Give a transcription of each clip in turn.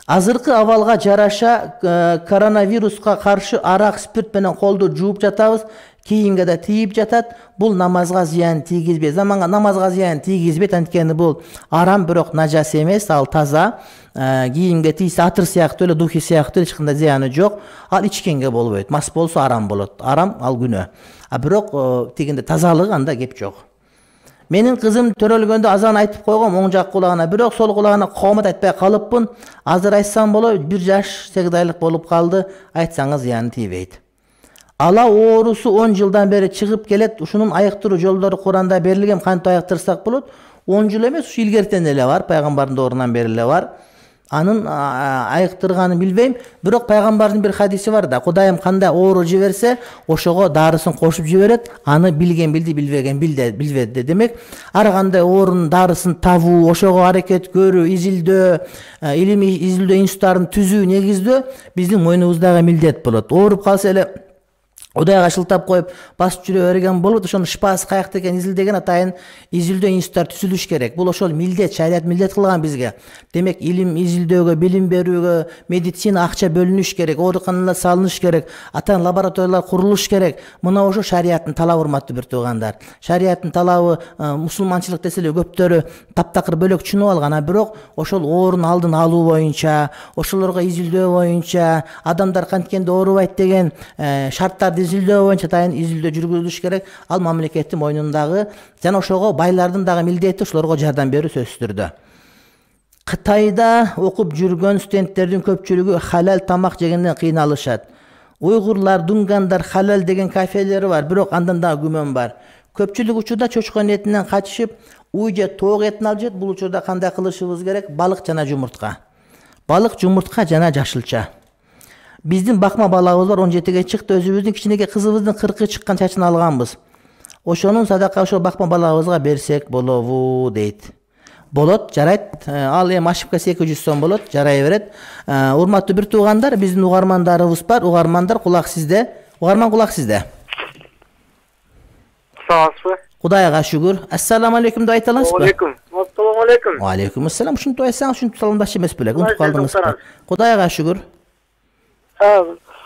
Азыркы абалга жараша коронавируска каршы арак, спирт менен колду жууп жатабыз. Кийимге да тийип жатат. Бул намазга зыян тийгизбейт. Заманга намазга зыян тийгизбейт, анткени бул арам, бирок нажас эмес, ал таза. Кийимге тийсе атыр сыяктуу эле, духи сыяктуу эч кандай зыяны жок. Ал ичкенге болбойт. Мас болсо арам болот. Арам ал күнөө. Бирок тигинде тазалык, анда кеп жок. Менин кызым төрөлгөндө азан айтып койгом оң жак кулагына, бирок сол кулагына коомат айтпай калыппын. Азыр айтсам болот, 1 жаш 8 айлык болуп калды. Айтсаңыз зыяны тийбейт. Ала оорусу 10 жылдан бери чыгып келет. Ушунун айыктыруу жолдору Куранда берилген. Кантип айыктырсак болот? 10 жыл эмес, ушу илгертен эле бар, пайгамбардын доорунан бери эле бар. Анын айыктырганын билбейм, бирок пайгамбардын бир хадиси бар да, Кудайым кандай оору жиберсе, ошого дарысын кошуп жиберет, аны билген билди, билбеген билбеди. Демек, ар кандай оорунун дарысын табуу, ошого аракет көрүү, изилдөө, илимий изилдөө институттарын түзүү, негиздөө биздин мойнубуздагы милдет болот. Ооруп калса эле Кудайга шылтап коюп, басып жүрө берген болот. Ошонун шыпасы каякта экенин изилдеген атайын изилдөө институттар түзүлүш керек. Бул ошол милдет, шарият милдет кылган бизге. Демек, илим изилдөөгө, билим берүүгө, медицина акча бөлүнүш керек, ооруканалар салыныш керек, атайын лабораториялар курулуш керек. Мына ошо шариаттын талабы, урматтуу бир туугандар. Шариаттын талабы мусулманчылык десе эле көптөрү таптакыр бөлөк түшүнүп алган, бирок ошол оорунун алдын алуу боюнча, ошолорго изилдөө боюнча, адамдар канткенде оорубайт деген шарттарды изилдөө боюнча атайын изилдөө жүргүзүлүш керек. Ал мамлекеттин мойнундагы жана ошого байлардын дагы милдети ошолорго жардам берүү сөзсүз түрдө. Кытайда окуп жүргөн студенттердин көпчүлүгү халал тамак жегенден кыйналышат. Уйгурлар, дунгандар халал деген кафелери бар, бирок андан дагы күмөн бар. Көпчүлүк учурда чочкон этинен качышып, уй же тоок этин алып жейт. Бул учурда кандай кылышыбыз керек? Балык жана жумуртка. Балык, жумуртка жана жашылча. Биздин бакма балабыз бар, 17ге чыкты. Өзүбүздүн кичинекей кызыбыздын 40 чыккан чачын алганбыз. Ошонун садака ошол бакма балабызга берсек болобу дейт. Болот, жарайт. Ал эми ошибкасы 200 сом болот, жарай берет. Урматтуу бир туугандар, биздин угармандарыбыз бар. Угармандар, кулак сизде. Угарман, кулак сизде. Саламатсызбы? Кудайга шүгүр. Ассаламу алейкум деп айта аласызбы? Алейкум. Ассаламу алейкум. Ва алейкум ассалам. Ушинтип айтсаңыз, ушинтип саламдашчы эмес белек. Унутуп калдыңызбы? Кудайга шүгүр.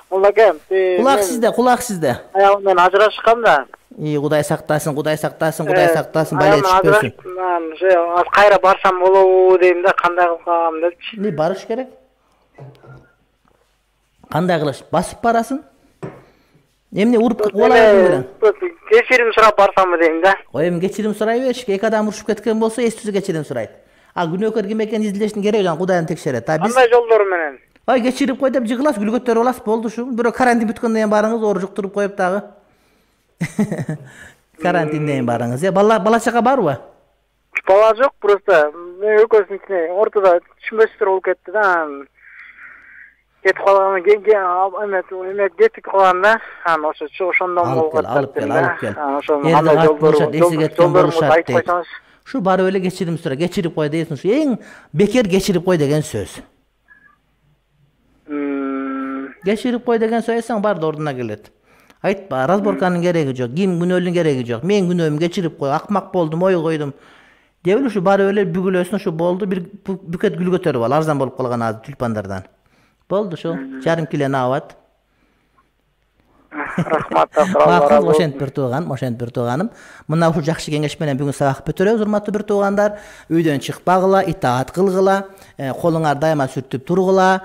Мулакем, кулак сизде, кулак сизде. Аягымдан ажырашкам да. Кудай сактасын, Кудай сактасын, Кудай сактасын, бала түшпөсүн. Мен кайра барсам болобу дейм да, кандай кылам депчи. Барыш керек. Кандай кылыш? Басып барасың? Эмне уруп калабы? Кечирим сурап барсамбы дейм да. Эми кечирим сурай бериш. Эки адам урушуп кеткен болсо, эстүүсү кечирим сурайт. Күнөөкөр ким экенин изилдештин кереги жок, Кудайым текшерет. Кандай жолдору менен? Кечирип кой деп жыгыласыз, гүл көтөрүп аласыз, болду ушу. Бирок карантин бүткөндөн кийин барыңыз, оору жуктуруп коюп дагы. Карантинден кийин барыңыз. Бала чака барбы? Бала жок, просто экөөсүнүн ортодо түшүнбөстөр болуп кетти да. Кетип калган, кетип калган да. Ошондон болуп кетти. Алып кел. Жолдорун айтып койсоңуз. Ушу барып эле кечирим сура, кечирип кой дейсиң. Ушу эң бекер кечирип кой деген сөз. Кечирип кой деген сөз айтсаң бар да ордуна келет. Айтпа, разборканын кереги жок, ким күнөөлүн кереги жок. Мен күнөөмдү кечирип кой, акмак болдум, ой койдум. Деп эле ушу барып эле бүгүлөсүн, ушу болду, бир бүкөт гүл көтөрүп ал, арзан болуп калган азыр тюльпандардан. Болду ушу, жарым килени абат. Рахмат, ошентип бир тууганым. Мына ушу жакшы кеңеш менен бүгүн сабак бүтүрөбүз, урматтуу бир туугандар. Үйдөн чыкпагыла, итаат кылгыла, колуңар дайыма сүртүп тургула,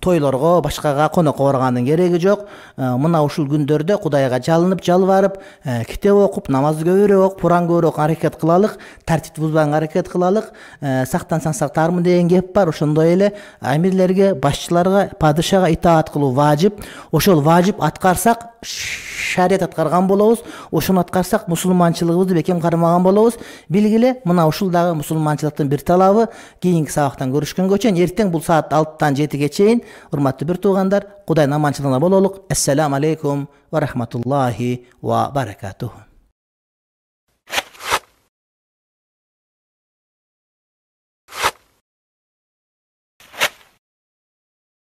тойлорго, башкага конокко баргандын кереги жок. Мына ушул күндөрдө Кудайга жалынып, жалбарып, китеп окуп, намазды көбүрөөк окуп, Куран көбүрөөк аракет кылалык, тартипти бузбаганга аракет кылалык. Сактансаң сактармын деген кеп бар. Ошондой эле амирлерге, башчыларга, падышага итаат кылуу важип. Ошол важип аткарсак, шарият аткарган болобуз. Ошону аткарсак, мусулманчылыгыбызды бекем кармаган болобуз. Билгиле, мына ушул дагы мусулманчылыктын бир талабы. Кийинки сабактан көрүшкөнгө чейин, эртең бул саат 6-тан 7-ге чейин, урматтуу бир туугандар, Кудайдын аманчылыгында бололук. Ассаламу алейкум ва рахматуллахи ва баракатух.